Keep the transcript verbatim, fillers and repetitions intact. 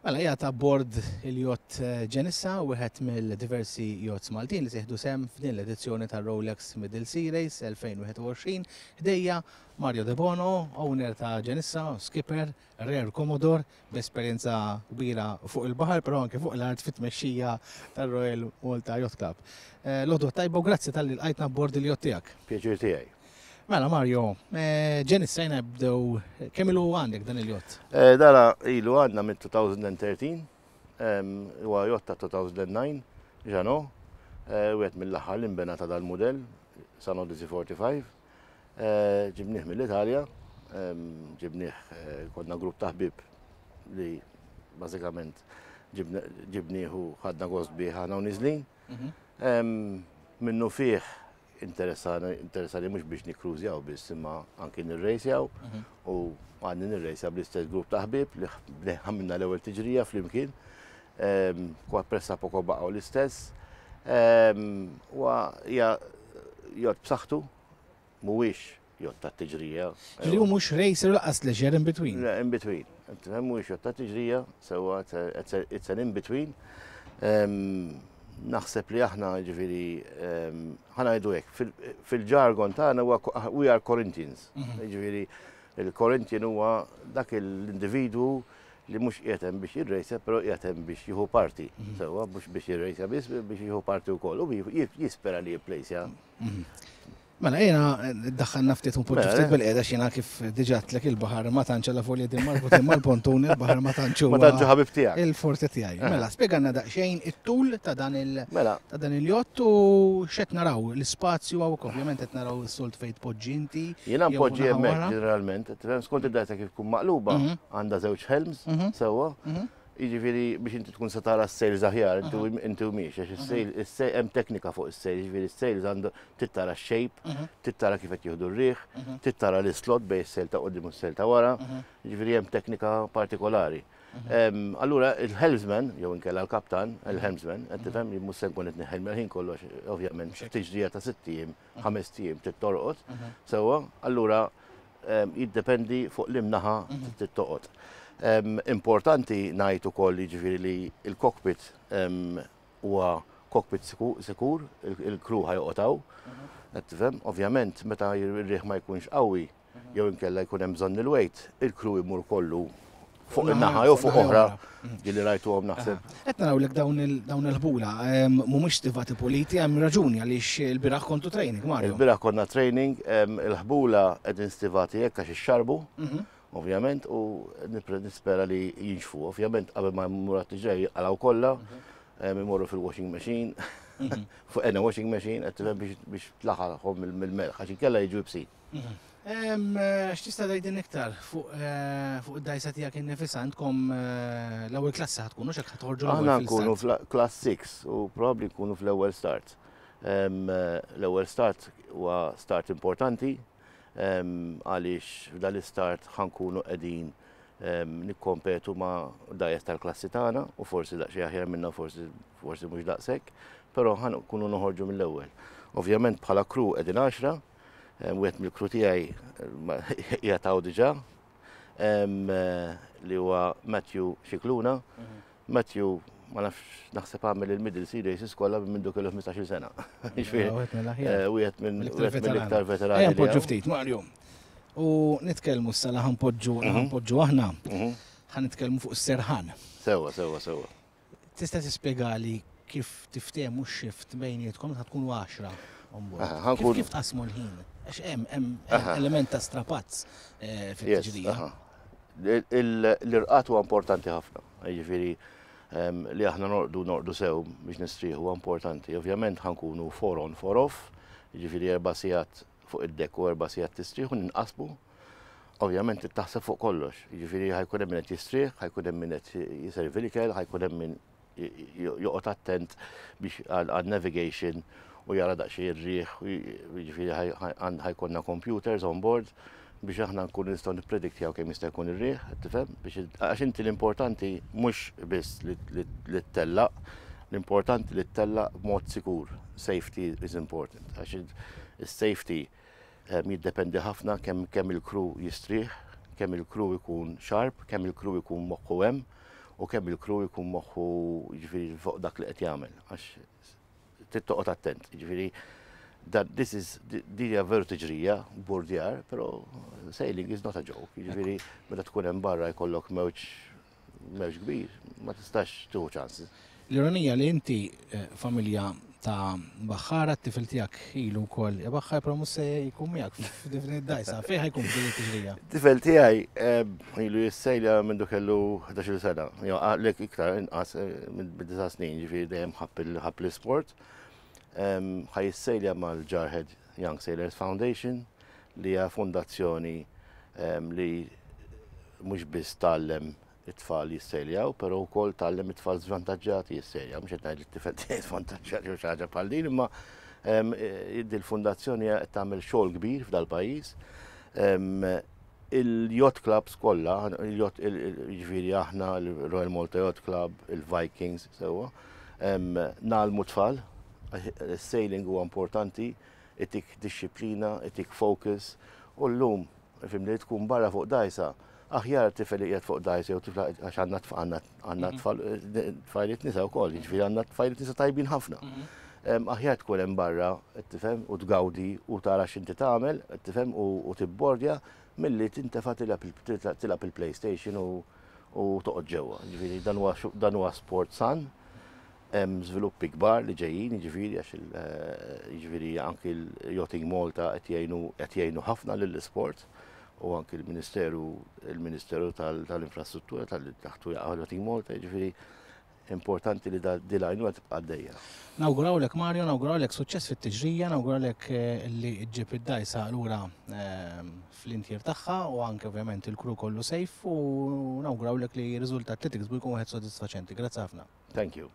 Mela, qiegħed abbord il-yacht Genissa, wieħed mill-diversi yachts Maltin li se jieħdu sehem f'din l-edizzjoni tar-Rolex Middle Sea Race elfejn u wieħed u għoxrin. Ħdejja Mario De Bono, owner ta' Genissa, skipper, Rear Commodore, b'esperjenza kbira fuq il-baħar, però anke fuq l-art fit-tmexxija tar-Royal Malta Yacht Club. Eh, L-għodwa t-tajba u grazzi talli lqajtna abbord il-yacht tiegħek. Pjaċir tiegħi. Mela Mario, eh, Genissa jena bdew, kemm ilu għandek dan il-yacht? Eh, Dara ilu għandna minn elfejn u tlettax, em, huwa yacht ta' elfejn u disgħa, Jeanneau, eh, wieħed mill-aħħar li nbena ta' dal-modell, Sun Odyssey erbgħa u erbgħin. Eh, Ġibnieh mill-Italja, em, ġibnieh eh, konna grupp ta' ħbieb li bażikament ġibnieh u ħadna gost bih aħna u niżlin. Em, Minnu fih interessani interessani mhux biex nikkrużjaw biss, imma anki nirrejsjaw, u għadni nirrejsja bl-istess grupp ta' ħbieb li li għamilna l-ewwel tiġrija flimkien. Em, Kwa pressa poko baqgħu l-istess. Em, Huwa hija yacht b'saħħtu, mhuwiex yacht ta' tiġrija. Li hu mhux racer lanqas leisure, in between. Le, in between. Tifhem, mhuwiex yacht ta' tiġrija, sewwa, it's a- it's an in between. Em, Naħseb li aħna, ġifieri, ħa ngħidu hekk, fil- fil-ġargon tagħna huwa we are Corinthians. Ġifieri, il-Corinthian huwa dak l-individwu li mhux qiegħed hemm biex jirrejsja, però qiegħed hemm biex jieħu parti. Sewwa, mhux biex jirrejsja biss, biex jieħu parti wkoll. U jispera li jipplejsja. Mela, jena daħħalna ftit un poġġu Mela, ftit eh. bil-qiegħda, xina kif diġà għedtlek, il-baħar ma tantx la folja din marbutin mal-pontun, il-baħar ma tantx Ma tantx ħabib tiegħek. Il-forte tiegħi. Mela, spjegalna daqsxejn it-tul ta' dan il- Mela, ta' dan il-yacht u x'qed naraw, l-ispazju hawn, ovvjament qed naraw is-soltu fejn tpoġġi inti. Jiena jew npoġġi naħa hemmhekk wara. ġeneralment, tifhem, skont id-data kif tkun maqluba, Mhm. għandha żewġ helms, Mhm. sewwa. Mhm. Jiġifieri biex inti tkun se tara s-sails aħjar, inti inti u miex, għax is-sail, is-sail hemm teknika fuq is-sail, jiġifieri s-sails għandu trid tara x-shape, Mhm. trid tara kif qed jieħdu r-riħ, Mhm. trid tara l-islot bejn is-sail ta' quddiem u s-sail ta' wara, Mhm. jiġifieri hemm teknika partikolari. Em, Allura il-helmsman, jew inkella l-kaptan, il-helmsman, qed tifhem, jien mhux se nkun qed neħel ħin kollox, ovvjament, tiġrija ta' sitt ijiem, ħames ijiem trid torqod, sewwa, allura em, jiddependi fuq liema naħa trid toqgħod. Em, Importanti ngħid ukoll, jiġifieri, li il-cockpit em, huwa cockpit siku- sikur, il- il-crew ħa joqgħod hawn, qed tifhem, ovvjament meta ir-riħ ma jkunx qawwi jew inkella jkun hemm bżonn il-weight, il-crew imur kollu fuq in-naħa jew fuq oħra ġieli rajtuhom, naħseb. Qed naraw lek dawn il- dawn il-ħbula em, mhumiex stivati puliti, hemm raġuni għaliex il-bieraħ kontu training, Mario. Il-bieraħ konna training, em, il-ħbula qegħdin stivati hekk għax ixxarbu, Mhm. ovvjament, u nipre- nispera li jinxfu. Ovvjament, qabel ma mmur ġej għalaw kollha, em, imorru fil-washing machine, fuq ena washing machine, qed tifhem, biex biex tlaħħalhom mill-melħ, għax inkella jiġu iebsin. Em, eh, X'tista' tgħidilna iktar fuq eh, fuq id-dajsa tiegħek innifisha? Għandkom eh, l-ewwel klassi ħa tkunu x'hekk, ħa toħorġu Aħna l-ewwel nkunu fil-start? fl-class sitta u probably nkunu fl-ewwel start. Em, eh, L-ewwel start huwa start importanti em, għaliex f'dan l-istart ħa nkunu qegħdin em, nikkompetu ma' dgħajjes tal-klassi tagħna u forsi daqsxejn aħjar minna, forsi forsi mhux daqshekk, però ħa nkunu noħorġu mill-ewwel. Ovvjament bħala crew qegħdin għaxra, em, wieħed mill-crew tiegħi qiegħed hawn diġà, em, eh, li huwa Matthew Xikluna. Matthew, ma nafx, naħseb għamel il-Middle Sea Races kollha minn mindu kellu ħmistax-il sena. Jiġifieri, Wieħed mill-aħjar. eh, wieħed minn Mill-iktar wieħed mill-iktar veterani. Ejja li npoġġu hawn. ftit, Mario. U nitkellmu s-sala ħa npoġġu ħa npoġġu aħna. Mhm. Ħa nitkellmu fuq is-serħan. Sewwa, sewwa, sewwa. Tista' tispjegali kif tiftehmu x-shift bejnietkom? Ta' tkunu għaxra on board? Aha, Kif ħa nkun- kif tqasmu l-ħin? Għax hemm hemm element ta' strapazz eh, Yes, fit-tiġrija. aha. Il- il- L-irqad huwa importanti ħafna. Jiġifieri em, li aħna norqdu norqdu sew biex nistrieħu huwa importanti. Ovvjament ħa nkunu four on, four off, jiġifieri erba' sigħat fuq id-deck u erba' sigħat tistrieħu, ninqasmu. Ovvjament taħseb fuq kollox. Jiġifieri ħa jkun hemm min qed jistrieħ, ħa jkun hemm min qed jiservi l-ikel, ħa jkun hemm min joqgħod attent biex għal navigation u jara daqsxejn ir-riħ, jiġifieri ħa jkollna computers on board biex aħna nkunu nistgħu nipprediktjaw kemm jista' jkun ir-riħ, tifhem, biex għax inti l-importanti mhux biss li li ttellaq, l-importanti li ttellaq b'mod sikur. Safety is important. Għax is-safety jiddependi ħafna kemm kemm il-crew jistrieħ, kemm il-crew ikun sharp, kemm il-crew ikun moħħu hemm. u kemm il-crew jkun moħħu, jiġifieri, fuq dak li qed jagħmel, għax trid toqgħod attent. Jiġifieri that this is, din hija veru tiġrija, burdjar, però sailing is not a joke. Jiġifieri meta tkun hemm barra jkollok mewġ mewġ kbir, ma tistax tieħu chances. L-ironija li inti eh, familja ta' baħħara, t-tifel tiegħek ilu wkoll baħħar, però mhux se jkun miegħek f'din id-dajsa. Fejn ħa jkun f'din it-tiġrija? Tifel tiegħi eh, ilu jissejlja minn kellu ħdax-il sena, jew għalek iktar inqas, eh, minn disa' snin, ġifieri dejjem ħabb l-isport. Ħa jissejlja mal-Jarhead Young Sailors Foundation, li hija fondazzjoni li mhux biss tgħallem it-tfal jissejljaw, però wkoll tgħallem it-tfal żvantaġġati jissejljaw. Mhux qed ngħid li t-tifel tiegħi żvantaġġat jew xi ħaġa bħal din, imma il-fondazzjoni qed tagħmel xogħol kbir f'dal-pajjiż. Il-yacht clubs kollha, il-yacht, jiġifieri aħna, il-Royal Malta Yacht Club, il-Vikings, sewwa, ngħallmu tfal, il-sailing huwa importanti, itik dixxiplina, itik focus, u llum, fim li tkun barra fuq dajsa, aħjar tifel li qiegħed fuq dajsa jew tifla, għax għandna għandna għandna mhm. tfal, tfajliet nisa wkoll, jiġifieri għandna tfajliet nisa tajbin ħafna. Mhm. Aħjar tkun hemm barra, tifhem, u tgawdi u tara x'inti tagħmel, tifhem, u tibbordja milli tintefa' tilgħab il-PlayStation u toqgħod ġewwa. Ġifieri dan huwa sport san, hemm żviluppi kbar li ġejjin, jiġifieri għax eh, jiġifieri anki l-Yachting Malta qed jgħinu qed jgħinu ħafna lill-isport u anki l-Ministeru il-Ministeru tal-Infrastruttura tal-taħtu Yachting Malta, jiġifieri importanti li din l-għajnuna tibqa' għaddejja. Nawgurawlek, Mario, nawgurawlek suċċess fit-tiġrija, nawgurawlek eh, li ġġib id-dajsa lura eh, fl-intier tagħha u anke ovvjament il-crew kollu safe, u nawgurawlek li r-riżultat li tiksbu jkun wieħed sodisfaċenti. Grazzi ħafna. Thank you.